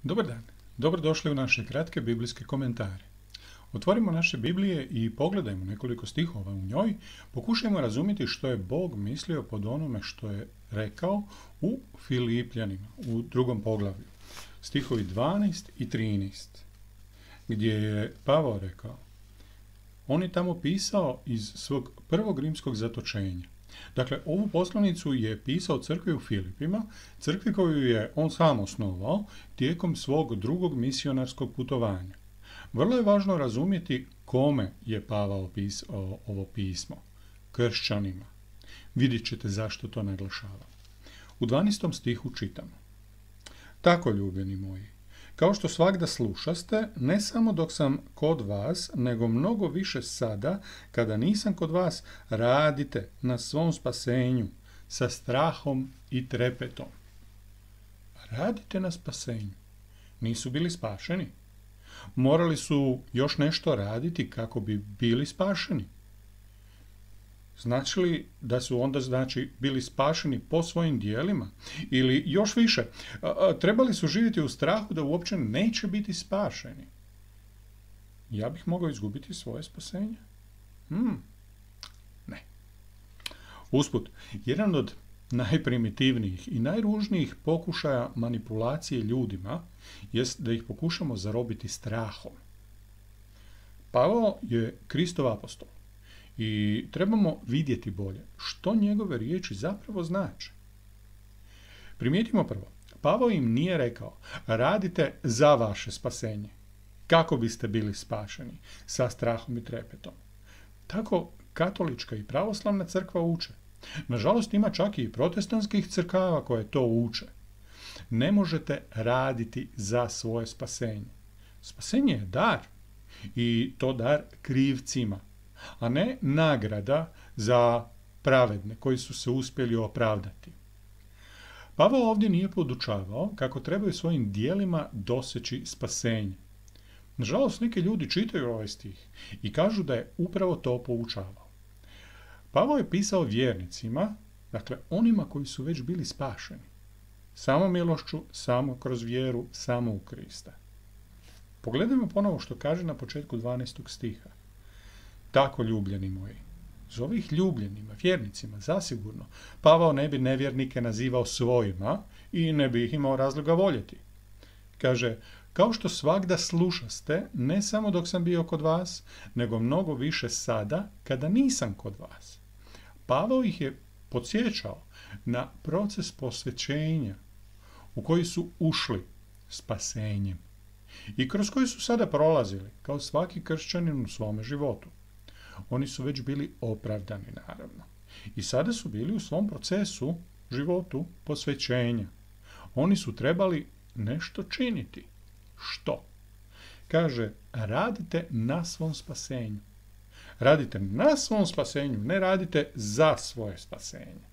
Dobar dan, dobrodošli u naše kratke biblijske komentare. Otvorimo naše Biblije i pogledajmo nekoliko stihova u njoj, pokušajmo razumjeti što je Bog mislio pod onome što je rekao u Filipljanima, u 2. poglavlju, stihovi 12 i 13, gdje je Pavao rekao, on je tamo pisao iz svog prvog rimskog zatočenja. Dakle, ovu poslanicu je pisao crkvi u Filipima, crkvi koju je on sam osnovao tijekom svog drugog misionarskog putovanja. Vrlo je važno razumjeti kome je Pavao pisao ovo pismo. Kršćanima. Vidjet ćete zašto to naglašava. U 12. stihu čitamo. Tako, ljubljeni moji, kao što svagda slušaste, ne samo dok sam kod vas, nego mnogo više sada, kada nisam kod vas, radite na svom spasenju sa strahom i trepetom. Radite na spasenju. Nisu bili spašeni. Morali su još nešto raditi kako bi bili spašeni. Znači li da su onda bili spašeni po svojim dijelima? Ili još više, trebali su živjeti u strahu da uopće neće biti spašeni? Ja bih mogao izgubiti svoje spasenje? Ne. Usput, jedan od najprimitivnijih i najružnijih pokušaja manipulacije ljudima jest da ih pokušamo zarobiti strahom. Pavao je Kristov apostol. I trebamo vidjeti bolje što njegove riječi zapravo znače. Primijetimo prvo, Pavao im nije rekao radite za vaše spasenje, kako biste bili spašeni, sa strahom i trepetom. Tako katolička i pravoslavna crkva uče. Nažalost, ima čak i protestantskih crkava koje to uče. Ne možete raditi za svoje spasenje. Spasenje je dar i to dar krivcima, a ne nagrada za pravedne koji su se uspjeli opravdati. Pavao ovdje nije podučavao kako trebaju svojim dijelima doseći spasenje. Nažalost, neki ljudi čitaju ovaj stih i kažu da je upravo to poučavao. Pavao je pisao vjernicima, dakle onima koji su već bili spašeni, samo milošću, samo kroz vjeru, samo u Krista. Pogledajmo ponovo što kaže na početku 12. stiha. Tako, ljubljeni moji, zove ih ljubljenima, vjernicima, zasigurno. Pavao ne bi nevjernike nazivao svojima i ne bi ih imao razloga voljeti. Kaže, kao što svagda slušaste, ne samo dok sam bio kod vas, nego mnogo više sada, kada nisam kod vas. Pavao ih je podsjećao na proces posvećenja u koji su ušli spasenjem i kroz koji su sada prolazili, kao svaki kršćanin u svome životu. Oni su već bili opravdani, naravno. I sada su bili u svom procesu, životu, posvećenja. Oni su trebali nešto činiti. Što? Kaže, radite na svom spasenju. Radite na svom spasenju, ne radite za svoje spasenje.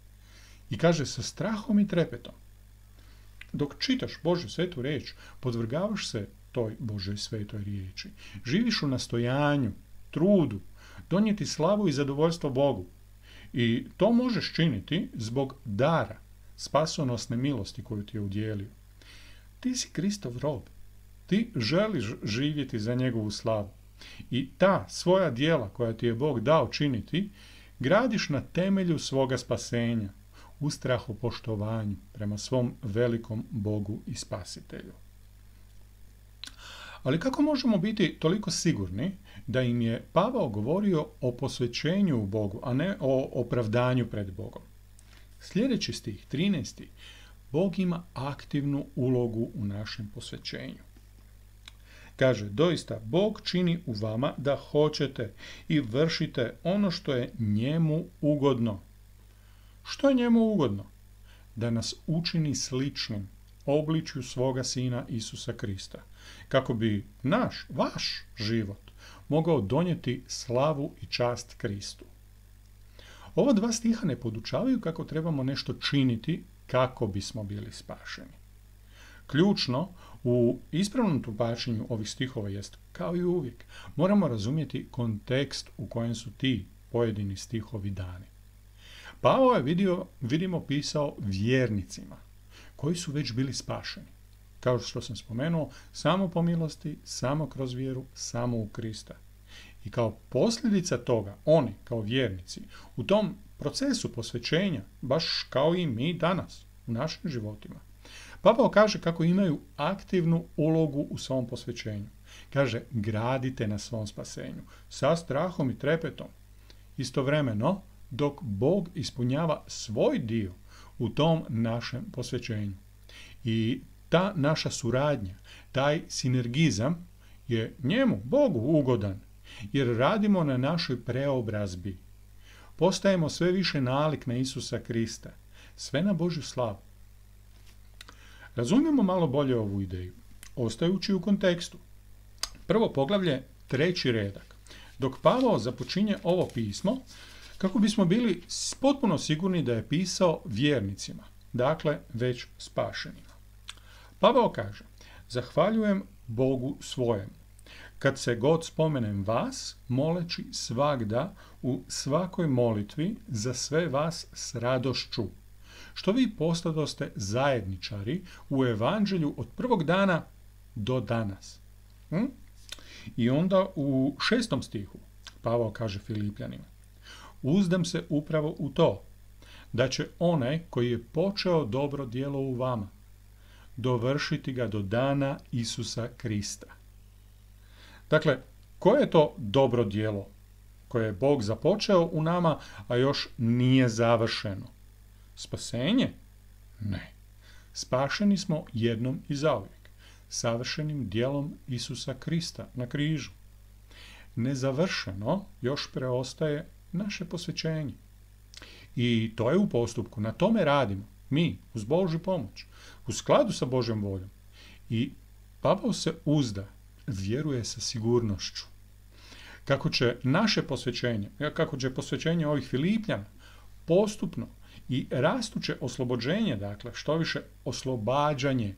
I kaže, sa strahom i trepetom. Dok čitaš Božju svetu riječ, podvrgavaš se toj Božoj svetoj riječi. Živiš u nastojanju, trudu, donijeti slavu i zadovoljstvo Bogu. I to možeš činiti zbog dara, spasonosne milosti koju ti je udjelio. Ti si Kristov rob. Ti želiš živjeti za njegovu slavu. I ta svoja djela koja ti je Bog dao činiti, gradiš na temelju svoga spasenja, u strahopoštovanju prema svom velikom Bogu i Spasitelju. Ali kako možemo biti toliko sigurni da im je Pavao govorio o posvećenju u Bogu, a ne o opravdanju pred Bogom? Sljedeći stih, 13. Bog ima aktivnu ulogu u našem posvećenju. Kaže, doista, Bog čini u vama da hoćete i vršite ono što je njemu ugodno. Što je njemu ugodno? Da nas učini sličnim obličju svoga Sina Isusa Krista, kako bi vaš život mogao donijeti slavu i čast Kristu. Ova dva stiha ne podučavaju kako trebamo nešto činiti kako bismo bili spašeni. Ključno u ispravnom tumačenju ovih stihova jest, kao i uvijek, moramo razumjeti kontekst u kojem su ti pojedini stihovi dani. Pavao je, vidimo, pisao vjernicima koji su već bili spašeni. kao što sam spomenuo, samo po milosti, samo kroz vjeru, samo u Krista. I kao posljedica toga, oni, kao vjernici, u tom procesu posvećenja, baš kao i mi danas, u našim životima, Pavao kaže kako imaju aktivnu ulogu u svom posvećenju. Kaže, gradite na svom spasenju, sa strahom i trepetom. Istovremeno, dok Bog ispunjava svoj dio u tom našem posvećenju. I ta naša suradnja, taj sinergizam je njemu, Bogu, ugodan, jer radimo na našoj preobrazbi. Postajemo sve više nalik na Isusa Krista, sve na Božju slavu. Razumijemo malo bolje ovu ideju, ostajući u kontekstu. Prvo poglavlje, 3. redak. Dok Pavao započinje ovo pismo, kako bismo bili potpuno sigurni da je pisao vjernicima, dakle već spašenima. Pavao kaže, zahvaljujem Bogu svojem, kad se god spomenem vas, moleći svagda u svakoj molitvi za sve vas s radošću, što vi postadoste zajedničari u evanđelju od prvog dana do danas. I onda u 6. stihu Pavao kaže Filipljanima, uzdam se upravo u to, da će onaj koji je počeo dobro djelo u vama, dovršiti ga do dana Isusa Krista. Dakle, koje je to dobro djelo koje je Bog započeo u nama, a još nije završeno? Spasenje? Ne. Spašeni smo jednom i zauvijek, savršenim djelom Isusa Krista na križu. Nezavršeno još preostaje naše posvećenje. I to je u postupku, na tome radimo, mi, uz Božju pomoć, u skladu sa Božjom voljom. I Pavao se uzda, vjeruje sa sigurnošću. Kako će naše posvećenje, kako će posvećenje ovih Filipljana postupno i rastuće oslobođenje, dakle, što više oslobađanje,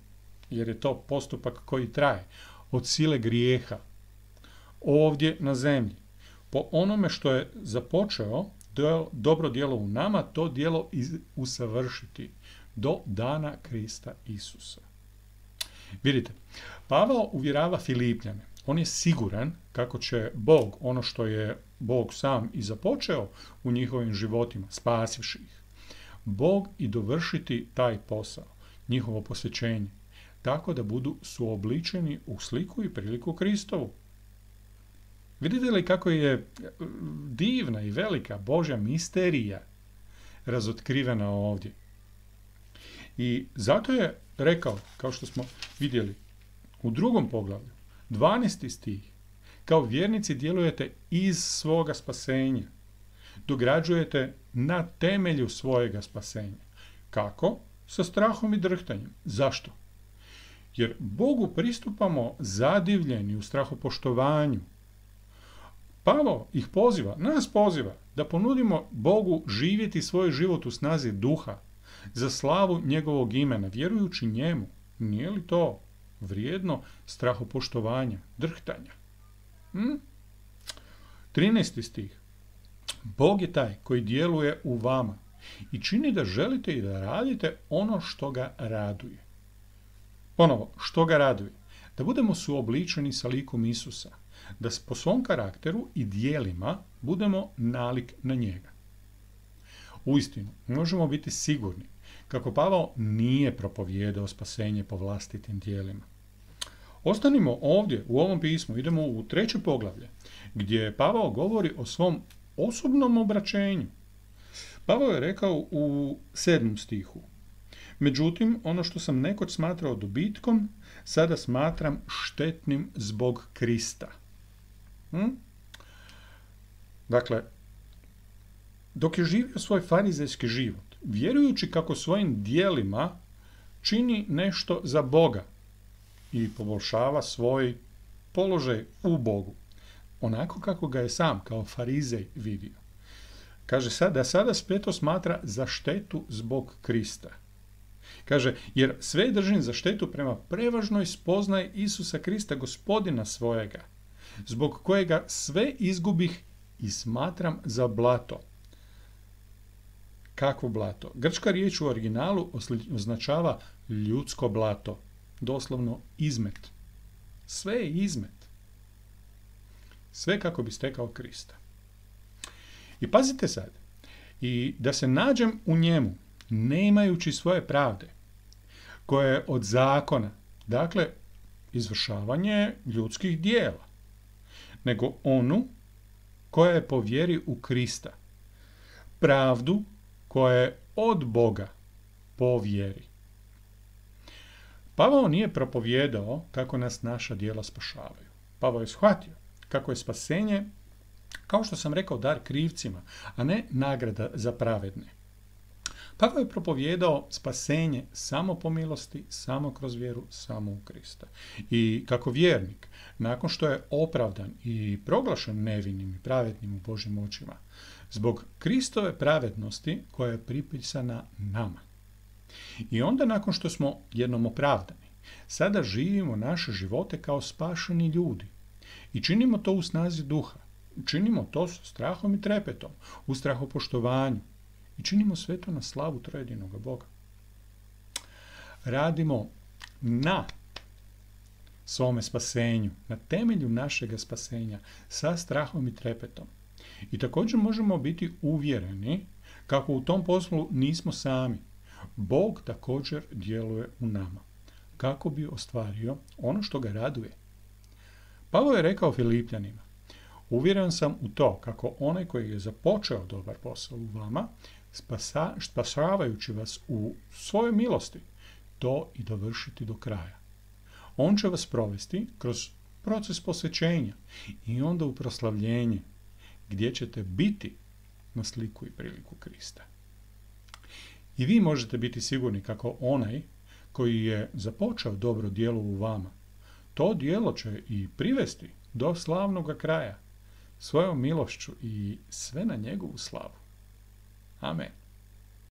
jer je to postupak koji traje, od sile grijeha, ovdje na zemlji, po onome što je započeo dobro djelo u nama, to djelo usavršiti do dana Krista Isusa. Vidite, Pavao uvjerava Filipljane. On je siguran kako će Bog, ono što je Bog sam i započeo u njihovim životima, spasivši ih, Bog i dovršiti taj posao, njihovo posvećenje, tako da budu suobličeni u sliku i priliku Kristovu. Vidite li kako je divna i velika Božja misterija razotkrivena ovdje? I zato je rekao, kao što smo vidjeli u 2. poglavlju, 12. stih, kao vjernici djelujete iz svoga spasenja, dograđujete na temelju svojega spasenja. Kako? Sa strahom i drhtanjem. Zašto? Jer Bogu pristupamo zadivljeni u strahopoštovanju. Pavao ih poziva, nas poziva, da ponudimo Bogu živjeti svoj život u snazi duha, za slavu njegovog imena, vjerujući njemu. Nije li to vrijedno strahopoštovanja, drhtanja? 13. stih. Bog je taj koji djeluje u vama i čini da želite i da radite ono što ga raduje. Ponovo, što ga raduje? Da budemo suobličeni sa likom Isusa, da po svom karakteru i djelima budemo nalik na njega. Uistinu, možemo biti sigurni kako Pavao nije propovijedao spasenje po vlastitim djelima. Ostanimo ovdje u ovom pismu, idemo u 3. poglavlje, gdje Pavao govori o svom osobnom obraćenju. Pavao je rekao u 7. stihu, međutim, ono što sam nekoć smatrao dobitkom, sada smatram štetnim zbog Krista. Dakle, dok je živio svoj farizejski život, vjerujući kako svojim djelima čini nešto za Boga i poboljšava svoj položaj u Bogu, onako kako ga je sam kao farizej vidio. Kaže da sada sve to smatra za štetu zbog Krista. Kaže, jer sve držim za štetu prema prevažnoj spoznaji Isusa Krista, gospodina svojega, zbog kojega sve izgubih i smatram za blato. Kakvo blato? Grčka riječ u originalu označava ljudsko blato. doslovno izmet. Sve je izmet. Sve kako bi stekao Krista. I pazite sad, i da se nađem u njemu, nemajući svoje pravde, koje je od zakona, dakle, izvršavanje ljudskih dijela, nego onu koja je po vjeri u Krista, pravdu koja je od Boga po vjeri. Pavao nije propovijedao kako nas naša djela spašavaju. Pavao je shvatio kako je spasenje, kao što sam rekao, dar krivcima, a ne nagrada za pravedne. Pavao je propovijedao spasenje samo po milosti, samo kroz vjeru, samo u Krista. I kako vjernik, nakon što je opravdan i proglašen nevinim i pravednim u Božjim očima, zbog Kristove pravednosti koja je pripisana nama. I onda nakon što smo jednom opravdani, sada živimo naše živote kao spašeni ljudi. I činimo to u snazi duha. Činimo to sa strahom i trepetom, u strahopoštovanju. I činimo sve to na slavu trojedinoga Boga. Radimo na svome spasenju, na temelju našega spasenja, sa strahom i trepetom. I također možemo biti uvjereni kako u tom poslu nismo sami. Bog također djeluje u nama, kako bi ostvario ono što ga raduje. Pavao je rekao Filipljanima: uvjeren sam u to kako onaj koji je započeo dobar posao u vama, spasavajući vas u svojoj milosti, to i dovršiti do kraja. On će vas provesti kroz proces posvećenja i onda u proslavljenje, gdje ćete biti na sliku i priliku Krista. I vi možete biti sigurni kako onaj koji je započeo dobro djelo u vama, to djelo će i privesti do slavnoga kraja, svojom milošću i sve na njegovu slavu. Amen.